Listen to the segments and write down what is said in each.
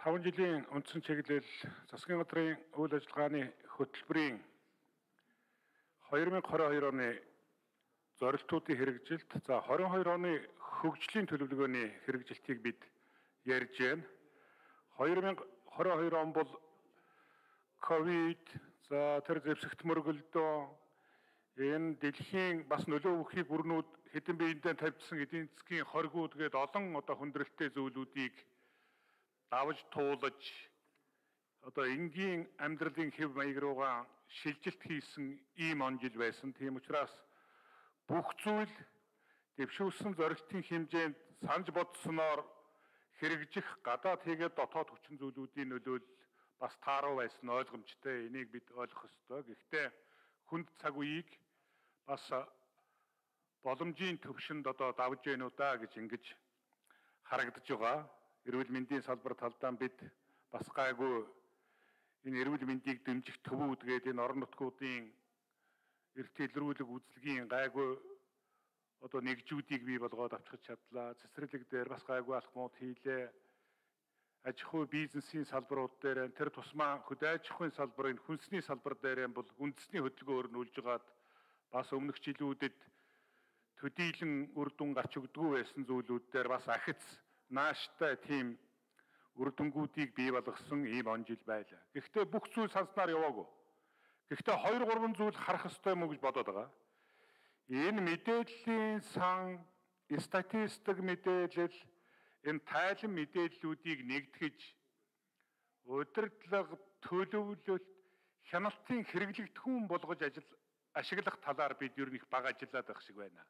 5 жилийн үндсэн чиглэл засгийн газрын үйл ажиллагааны хөтөлбөрийн 2022 оны зорилтуудын хэрэгжилт, 22 оны хөгжлийн төлөвлөгөөний хэрэгжилтийг бид ярьж байна. 2022 он бол ковид, тэр зэвсэгт мөргөлдөө энэ дэлхийн бас нөлөө өгөхийг бүрнүүд хэдэн биендээ тавьдсан эдийн засгийн хоригууд гээд олон хүндрэлтэй зүйлүүдийг давж туулаж энгийн амьдралын хэв маяг руугаа шилжилт хийсэн ийм он жил байсан. Тийм учраас бүх зүйл дэвшүүлсэн зорилтын хэмжээнд санаж бодсноор хэрэгжих гадаад хийгээд дотоод хүчин зүйлүүдийн нөлөөлөл бас тааруу байсан ойлгомжтой. Энийг бид ойлгох ёстой. Гэхдээ хүнд цаг үеийг бас боломжийн төвшөнд давж гэнэ удаа гэж ингэж харагдаж байгаа. Эрүүл мэндийн салбар талдаа бид бас гайгүй энэ эрүүл мэндийг дэмжих төвүүд гээд энэ орон нутгуудын эрт илрүүлэг үзлэгийн гайгүй нэгжүүдийг бий болгоод авчиж чадлаа. Цэцэрлэг дээр бас гайгүй алхмууд хийлээ. Аж ахуй бизнесийн салбарууд дээр тэр тусмаа хөдөө аж ахуйн салбарын хүнсний салбар дээр бол үндэсний хөдөлгөөр нь үлжгаад бас өмнөх жилүүдэд төдийлөн үр дүн гарч өгдөггүй байсан зүйлүүд дээр бас ахиц нааштай тийм үр дүнгуудыг бий болгосон ийм он жил байлаа. Гэхдээ бүх зүйл санснаар яваагүй. Гэхдээ 2-3 зүйл харах ёстой юм уу гэж бодоод байгаа. Энэ мэдээллийн сан, статистик мэдээлэл, энэ тайлан мэдээллүүдийг нэгтгэж удирдлага, төлөвлөлт, хяналтын хэрэглэгдэхүүн болгож ашиглах талаар бид ер нь их бага ажиллаад байх шиг байна.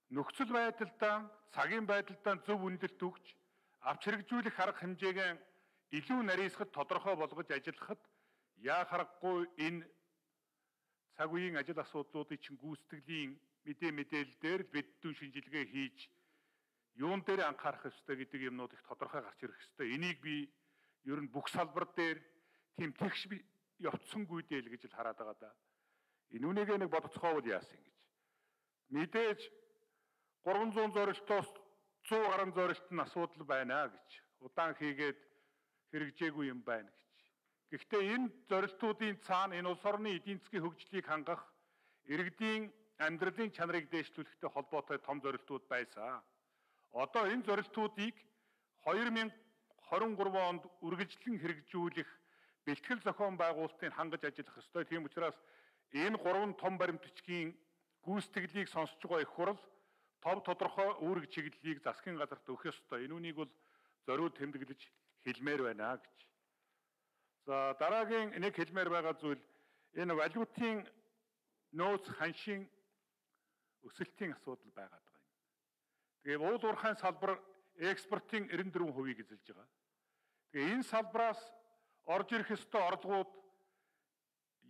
Нөхцөл байдалдаа, цагийн байдалдаа зөв үнэлэлт өгч, авч хэрэгжүүлэх арга хэмжээгээ илүү нарийсгад тодорхой болгож ажиллахад яа харахгүй энэ цаг үеийн ажил асуудлуудыг чинь гүйцэтгэлийн мэдээлэл дээр л бид дүү шинжилгээ хийж юун дээр анхаарах ёстой гэдэг юмнууд их тодорхой гарч ирэх ёстой. Энийг би ер нь бүх салбар дээр тийм тэгш явцсангүй дээ л гэж л хараад байгаа да. Энэ үнэгээ нэг бодоцгоовол яасан гэж. Мэдээж 300 зорилтоос 100 гаруй зорилт нь асуудал байна гэж. Удаан хийгээд хэрэгжээгүй юм байна гэж. Гэхдээ энэ зорилтуудын цаана энэ улс орны эдийн засгийн хөгжлийг хангах, иргэдийн амьдралын чанарыг дээшлүүлэхтэй холбоотой том зорилтууд байсан. Одоо энэ зорилтуудыг 2023 онд үргэлжлэн хэрэгжүүлэх бэлтгэл зохион байгуулалтыг хангаж ажиллах ёстой. Тийм учраас энэ 3 том баримт бичгийн гүйцэтгэлийг сонсож байгаа их хурл том тодорхой үүрэг чиглэлийг засгийн газарт өгөх ёстой. Энэ үнийг бол зориуд тэмдэглэж хэлмээр байна гэж. За дараагийн нэг хэлмээр байгаа зүйл энэ валютын нөөц ханшийн өсөлтийн асуудал байгаад байгаа юм. Тэгээ уул уурхайн салбар экспортын 94%-ийг эзэлж байгаа. Тэгээ энэ салбараас орж ирэх ёстой орлогууд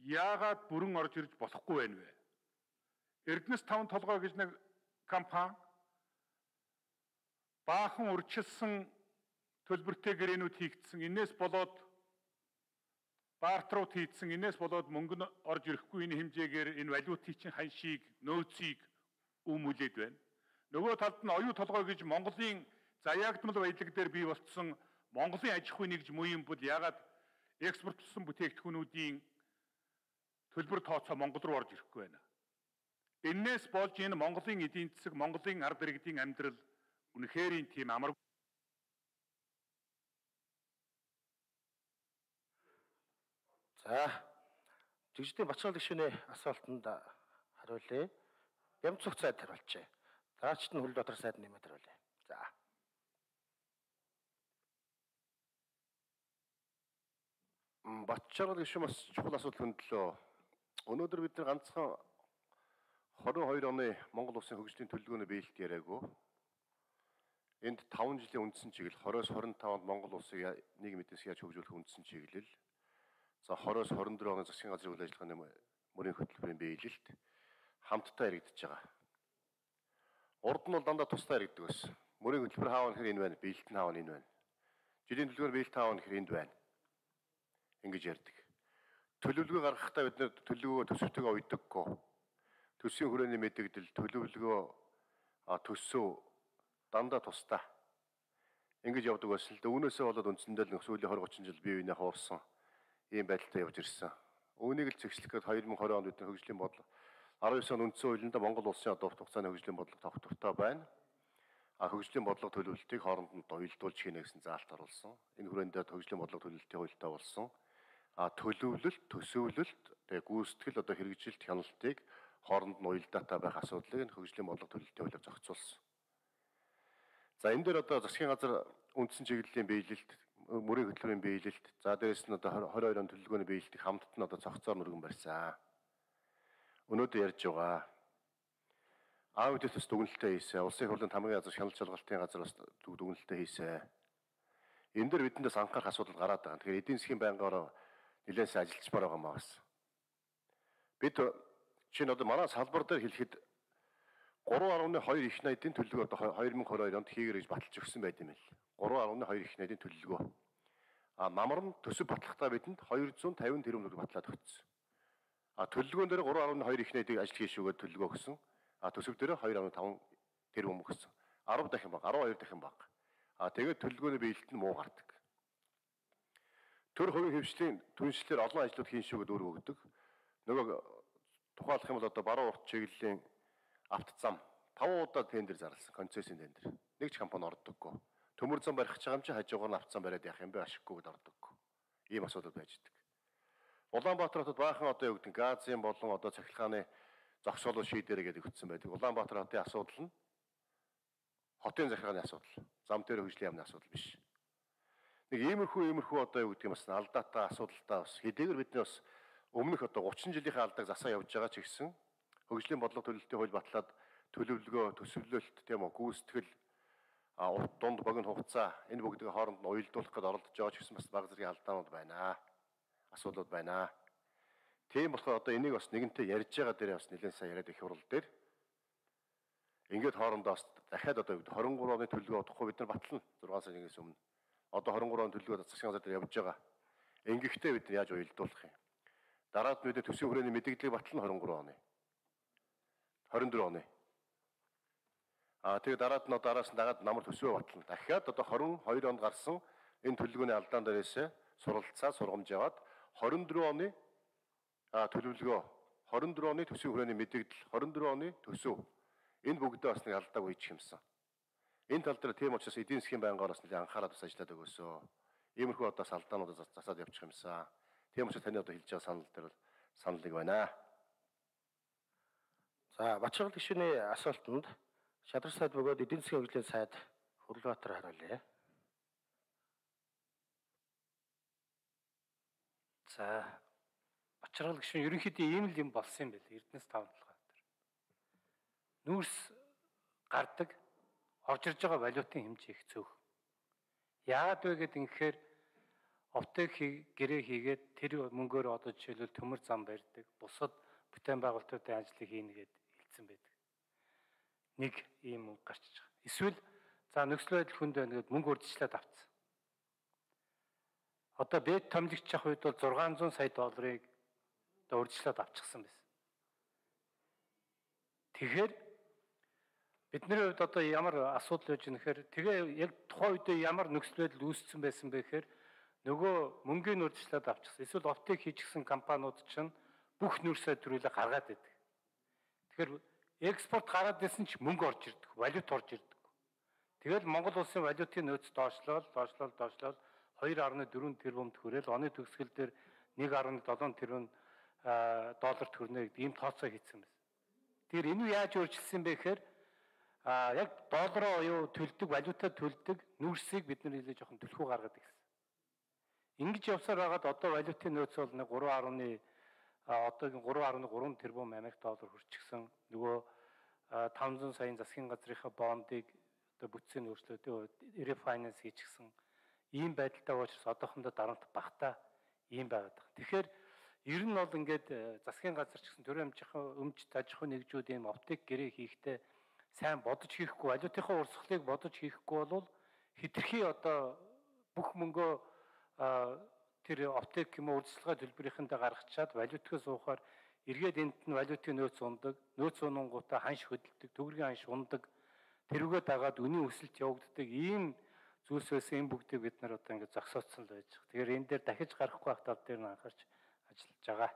яагаад бүрэн орж ирж болохгүй байна вэ? Эрдэнэс 5 толгой гэж нэг компани баахан урьдчилсан төлбөртэй гэрээнүүд хийгдсэн. Инээс болоод баартрууд хийгдсэн. Инээс болоод мөнгө нь орж ирэхгүй энэ хэмжээгээр энэ валютын чинь ханшийг, нөөцийг үүмүүлээд байна. Нөгөө талд нь оюу толгой гэж Монголын заяагдмал баялаг дээр бий болцсон Монголын аж ахуй нэгж мууийн бол яагаад экспортлсон бүтээгдэхүүнүүдийн төлбөр тооцоо Монгол руу орж ирэхгүй байна. Энээс болж энэ Монголын эдийн засаг, Монголын ард иргэдийн амьдрал үнэхээр тийм амар. За, жигжидийн Бачаал гишүүний асуултанд хариулъя. Бямцух сайд хариулчээ. Дараачд нь Хөл дотор сайд нэмээд хариулъя. За. Бачаал гишүүн бас чухал асуудал хөндлөө. Өнөөдөр бид нар ганцхан 22 оны Монгол улсын хөгжлийн төлөвлөгөөний биелэлт яриаггүй. Энд 5 жилийн үндсэн чиглэл 20-25 онд Монгол улсыг нийгэм эдийн засгийг яаж хөгжүүлэх үндсэн чиглэл. За 20-24 оны засгийн газрын үйл ажиллагааны мөрийн хөтөлбөрийн биелэлт хамтдаа яригдж байгаа. Урд нь бол дандаа тусдаа яригддаг байсан. Мөрийн хөтөлбөр хаав гэхээр энэ байна, биелэлт нь хаав энэ байна. Жилийн төлөвлөгөөний биелэлт хаав гэхээр энд байна. Ингэж ярьдаг. Төлөвлөгөө гаргахтаа бид нэр төлөвлөгөө төсөвтэйгээ уйдаггүй. Төсвийн хүрээний мэдээлэл төлөвлөгөө төсөв дандаа тусдаа. Ингэж явдаг байсан л да. Үүнээсээ болоод үндсэндээ л сүүлийн 20-30 жил бие биенээ хуурсан ийм байдалтай явж ирсэн. Үүнийг л зэгслэх гээд 2020 онд бидний хөгжлийн бодлого 19 он үндсэн хуулинд Монгол улсын одоо хугацааны хөгжлийн бодлого тогтвортой байна. Хөгжлийн бодлого төлөвлөлтийг хооронд нь уялдуулж хийнэ гэсэн заалт оруулсан. Энэ хүрээндээ хөгжлийн бодлого төлөвлөлтийн хуультай болсон. Төлөвлөлт, төсөвлөлт, тэгээ гүйцэтгэл одоо хэрэгжилт хяналтыг хооронд нь уялдаатай байх асуудлыг энэ хөгжлийн бодлого төлөвлөлтийн хуулиар зохицуулсан. За энэ дээр одоо засгийн газар үндсэн чиглэлийн биелэлт, мөрийн хөтөлбөрийн биелэлт, за дээрэс нь одоо 22 он төлөвлөгөөний биелэлтийг хамтд нь одоо цогцоор мөргөн барьсан. Өнөөдөр ярьж байгаа аудит төс дүгнэлтээ хийсэн. Улсын хурлын хамгийн газар шалгалт шалгалтын газар бас дүгнэлтээ хийсэн. Энэ дээр бидэндээс анхаарах асуудал гараад байгаа. Тэгэхээр эдийн засгийн байнгаараа нэлээд сайн ажиллаж байгаа маа гэсэн. Бид чинь одоо манай салбар дээр хэлэхэд 3.2 их найдын төлөвлөгөө одоо 2022 онд хийгэр гэж баталж өгсөн байт юм л. 3.2 их найдын төлөвлөгөө. Намар нь төсөв батлахдаа бидэнд 250 тэрбум төгрөг батлаад өгсөн. Төлөвлөгөөн дээр 3.2 их найдыг ажил хийшүүгээд төлөвлөгөө өгсөн. Төсөв дээр 2.5 тэрбум өгсөн. 10 дахин баг, 12 дахин баг. Тэгээд төлөвлөгөөний биелэлт нь муу гардаг. Төр хувийн хөвшлийн түншлэлээр олон ажлууд хийн шүүгээд өөрөг өгдөг. Нөгөө тухайлах юм бол одоо баруун урт чиглэлийн авто зам 5 удаа тендер зарласан, концессийн тендер. Нэг ч компани ордоггүй. Төмөр зам барих гэж байгаа юм чи хажуугаар нь авто зам бариад явах юм бэ ашиггүйд ордоггүй. Ийм асуудал байж идэг. Улаанбаатар хотод баахан одоо юу гэдэг газын болон одоо цахилгааны зогсоолоо шийдэрэ гэдэг өгсөн байдаг. Улаанбаатар хотын асуудал нь хотын захиргааны асуудал. Зам дээр хөгжлийн яамны асуудал биш. Нэг иймэрхүү одоо юу гэдэг юм бас алдаатай асуудалтай бас хэдийгээр бидний бас өмнөх одоо 30 жилийнхээ алдааг засаа явж байгаа ч гэсэн хөгжлийн бодлого төлөвлөлтийн хууль батлаад төлөвлөгөө, төсөвлөлт тийм үү гүйцэтгэл урт дунд богино хугацаа энэ бүгдийг хооронд нь уялдуулах гэж оролдож байгаа ч гэсэн бас бага зэргийн алдаанууд байна. Асуудлууд байна. Тийм болохоор одоо энийг бас нэгэнтээ ярьж байгаа дээр бас нэлээд сайн яриад их хурал дээр ингээд хоорондоо бас дахиад одоо 23 оны төлөвлөгөө удахгүй бид нар батлана 6 сарын 1-ээс өмнө. Одоо 23 оны төлөвлөгөө засгийн газар дээр явж байгаа. Ингэхдээ бид яаж уялдуулах юм? Дараад нь бид төсвийн хүрээний мэдээллийг батлана 23 оны. 24 оны. Тэгээд дараад нь араас нь дагаад намар төсвөө батлана. Дахиад одоо 22 онд гарсан энэ төлөвлөгөөний алдаан дээрээс суралцаа сургамж яваад 24 оны төлөвлөгөө 24 оны төсвийн хүрээний мэдээлэл 24 оны төсөв энэ бүгдээ бас нэг алдааг үйчих юмсан. Энэ тал дээр тийм учраас эдийн засгийн байнгаар бас нэлээд анхаарал бас ажиллаад өгөөсөө. Иймэрхүү одоо салдаануудаа засаад явчих юмсан. Тийм учраас таны одоо хэлж байгаа санал дээр саналыг байна. За Бачиргал гишүүний асуултанд шадар сайд бөгөөд эдийн засгийн хөгжлийн сайд Хүрлбаатар хариулъя. За Бачиргал гишүүн ерөнхийдөө ийм л юм болсон юм байл. Эрдэнэс 5-7 дээр. Нүүрс гардаг орж ирж байгаа валютын хэмжээ их цөөх. Яагаад вэ гэдэг ингэхээр оптек гэрээ хийгээд тэр мөнгөөр одоо жишээлбэл төмөр зам барьдаг, бусад бүтээн байгуулалтуудын ажлыг хийнэ гэд хэлсэн байдаг. Нэг ийм үг гарч байгаа. Эсвэл за нөхцөл байдал хүнд байна гэд мөнгө урьдчилаад авцсан. Одоо бэд томлогч авах үед бол 600 сая долларыг одоо урьдчилаад авчихсан байсан. Тэгэхээр бидний хувьд одоо ямар асуудал байж нэхэр тэгээ яг тухайн үедээ ямар нөхцөл байдал үүссэн байсан бэ гэхээр нөгөө мөнгөний урьдчилаад авчихсан. Эсвэл оптек хийчихсэн компаниуд чинь бүх нүүрсээ төрүүлээ гаргаад байдаг. Тэгэхээр экспорт гараад байсан ч мөнгө орж ирдэг, валют орж ирдэг. Тэгэл Монгол улсын валютын нөөц доошлол 2.4 тэрбумд хүрээл оны төгсгөл дээр 1.7 тэрбум долларт хүрнэ гэдэг ийм тооцоо хийсэн байсан. Тэгэхээр энэ яаж өөрчилсөн бэ гэхээр яг доллароо юу төлдөг, валютаа төлдөг нүүрсийг бид нар нэлээд жоохон төлхөө гаргаад ирсэн. Ингэж явсаар байгаад одоо валютын нөөц бол нэг 3.3 тэрбум Америк доллар хүрчихсэн. Нөгөө 500 саяын засгийн газрынхаа бондыг одоо бүтцийн өөрчлөлтөд refinance хийчихсэн. Ийм байдалтай учраас одоохондоо дарамт багтаа ийм байгаад байна. Тэгэхээр ер нь бол ингээд засгийн газар ч гэсэн төрийн өмч аж ахуйн нэгжүүд ийм оптик гэрээ хийхдээ сайн бодож хийхгүй, валютынхаа урсгалыг бодож хийхгүй бол хэтэрхий одоо бүх мөнгөө тэр оптик юм урьдчилгаа төлбөрийнхөндөө гаргачаад валютгаа суухаар эргээд энд нь валютын нөөц ундаг, нөөц унангуудаа ханш хөдөлдөг, төгрөгийн ханш ундаг, тэрүүгээ дагаад үнийн өсөлт явагддаг ийм зүйлс байсан энэ бүгдийг бид нар одоо ингээд зогсооцсон л байж байгаа. Тэгэхээр энэ дээр дахиж гарахгүй байх тал дээр нь анхаарч ажиллаж байгаа.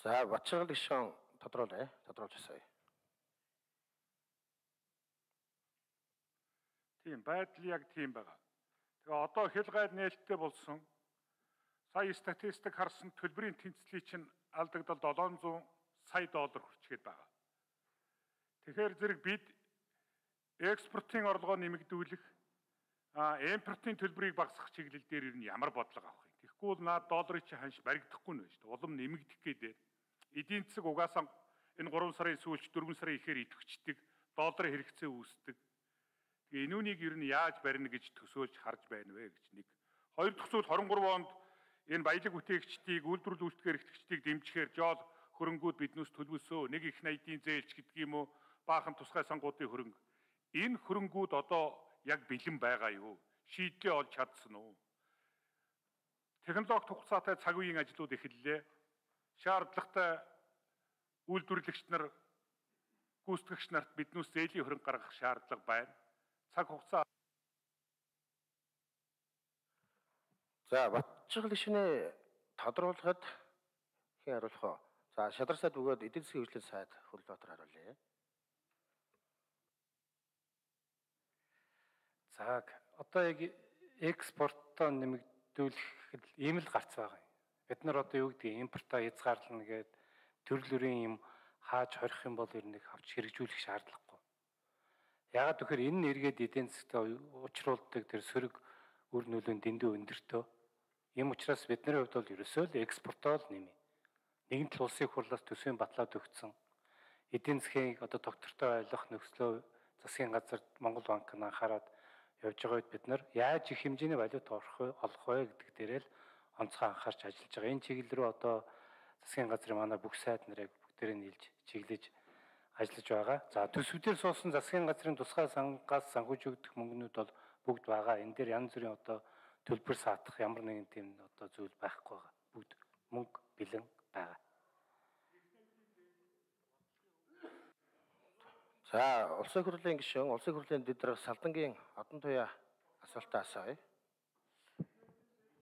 За Батшаал гишүүн тодруулж асууя. Тийм байдал яг тийм байгаа. Тэгээ одоо хил гайл нээлттэй болсон. Сая статистик харсан төлбөрийн тэнцлийг чинь алдагдал $700 сая хүрчгээд байгаа. Тэгэхээр зэрэг бид экспортын орлогоо нэмэгдүүлэх, импортын төлбөрийг багасгах чиглэл дээр ер нь ямар бодлого авах юм. Тэгэхгүй бол наад долларын чинь ханш баригдахгүй нэ шүү дээ. Улам нэмэгдэх гэдэг. Эдийн засаг угаасаа энэ 3 сарын сүүлч 4 сарын ихээр идэвхждэг, долларын хэрэгцээ үүсдэг. Тэгээ энүүнийг ер нь яаж барина гэж төсөөлж харж байна вэ гэж нэг. Хоёр дахь зүйл 23 онд энэ баялаг бүтээгчдийг, үйлдвэрлэл үйлчлэгээр эрхлэгчдийг дэмжихээр жол хөрөнгүүд биднээс төлөвлөсөө. Нэг их найдын зээлч гэдэг юм уу, баахан тусгай сангуудын хөрөнгө. Энэ хөрөнгүүд одоо яг бэлэн байгаа юу? Шийдлээ олж чадсан уу? Технологи хугацаатай цаг үеийн ажлууд эхэллээ. Шаардлагатай үйлдвэрлэгч нар, гүйцэтгэгч нарт биднээс зээлийн хөрөнгө гаргах шаардлага байна. Цаг хугацаа. За Батшаал гишүүнээ тодруулахад хэн хариулах вэ? За Шадар сайд бөгөөд эдийн засгийн хөгжлийн сайд Хөлбаатар хариулъя. За одоо яг экспортоо нэмэгдүүлэх ийм л гарц байгаа юм. Бид нар одоо юу гэдэг импортоо хязгаарлана гэдэг төрөл бүрийн юм хааж хорих юм бол ер нь авч хэрэгжүүлэх шаардлагагүй. Яагаад гэхээр энэ нь эргээд эдийн засгт учруулдаг тэр сөрөг үр нөлөөнд дэндүү өндөртөө. Ийм учраас бидний хувьд бол ерөөсөө л экспортоо л нэмээ. Нэгэн тал улсын хурлаас төсвийн батлаад өгсөн. Эдийн засгийн одоо доктортой ойлгох нөхцлөө засгийн газар Монгол банк нь анхаарад явж байгаа үед бид нар яаж их хэмжээний валют олох вэ гэдэг дээрээ л онцгой анхаарч ажиллаж байгаа. Энэ чиглэл рүү одоо засгийн газрын манай бүх сайд нарыг бүгдээрээ нийлж чиглэж ажиллаж байгаа. За төсвүүдээр суусан засгийн газрын тусгай сангаас санхүүж өгөх мөнгнүүд бол бүгд байгаа. Энэ дээр янз бүрийн одоо төлбөр саатах ямар нэгэн тийм одоо зүйл байхгүй байгаа. Бүгд мөнгө бэлэн байгаа. За улсын хурлын гишүүн, улсын хурлын дэд дарга Салдангийн Одон туяа асуултаа асууя.